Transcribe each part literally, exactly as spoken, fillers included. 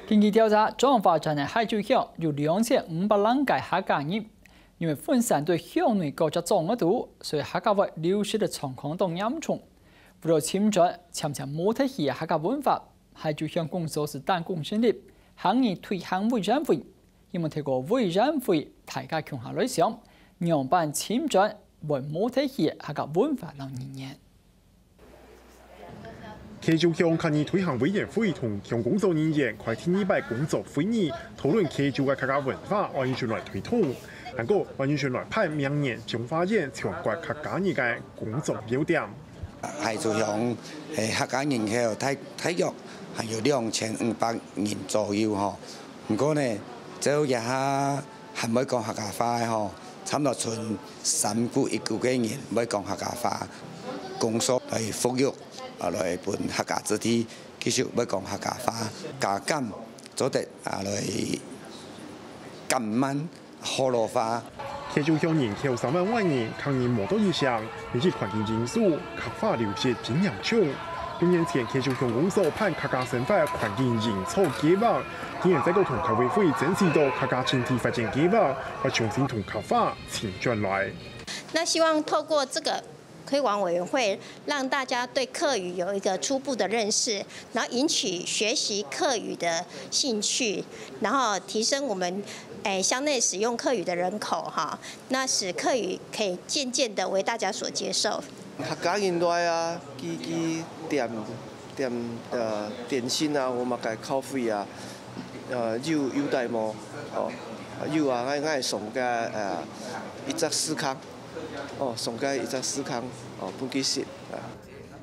根據調查，彰化縣个溪州鄉有兩千五百零個客家人，因為分散在鄉內各隻庄仔肚，所以客家話流失个狀況當嚴重。為了尋轉漸漸無忒去个客家文化，溪州鄉公所係單工成立客語推行委員會，希望透過委員會大家共下來想，仰般尋轉會無忒去个客家文化摎語言。 溪州鄉客語推行委員會同鄉公所人員開第二擺工作會議，討論溪州个客家文化愛仰般來推動，還過愛仰般來辦明年彰化縣全國客家日个工作要點。溪州鄉，誒，客家人口大，大約還有兩千五百人左右吼。毋過呢，只有這下 還毋會講客家話个吼，差毋多賰三股一股个人毋會講客家話。工所來復育，啊，來分客家子弟繼續會講客家話，加減做得啊來減慢學老化。溪州鄉人口三萬外人，客語無到一成，經濟環境因素，客話流失真嚴重。六年前，溪州鄉公所辦客家生活環境營造計畫，今年再過同客委會爭取到客家青年發展計畫，愛重新同客話尋轉來。那希望透過這個推廣委員會，讓大家對客語有一個初步的認識，然後引起學習客語的興趣，然後提升我們誒鄉內使用客語的人口哈，那使客語可以漸漸的為大家所接受。客家人來啊，佢佢點點呃點心啊，我嘛个咖啡啊，呃有有帶無？哦，有啊，𠊎𠊎送个呃一隻司康，哦，送个一隻司康，哦，分佢食啊。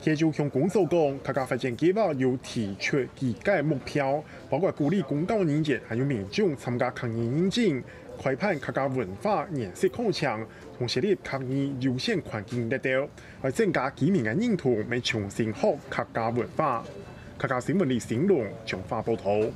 溪州鄉公所講，客家發展計畫有提出幾個目標，包括鼓勵公教人員還有民眾參加客語認證，開辦客家文化研習課程，同設立客語優先環境列表，來增加居民个認同，來重新學客家文化。客家新聞李新龍彰化報導。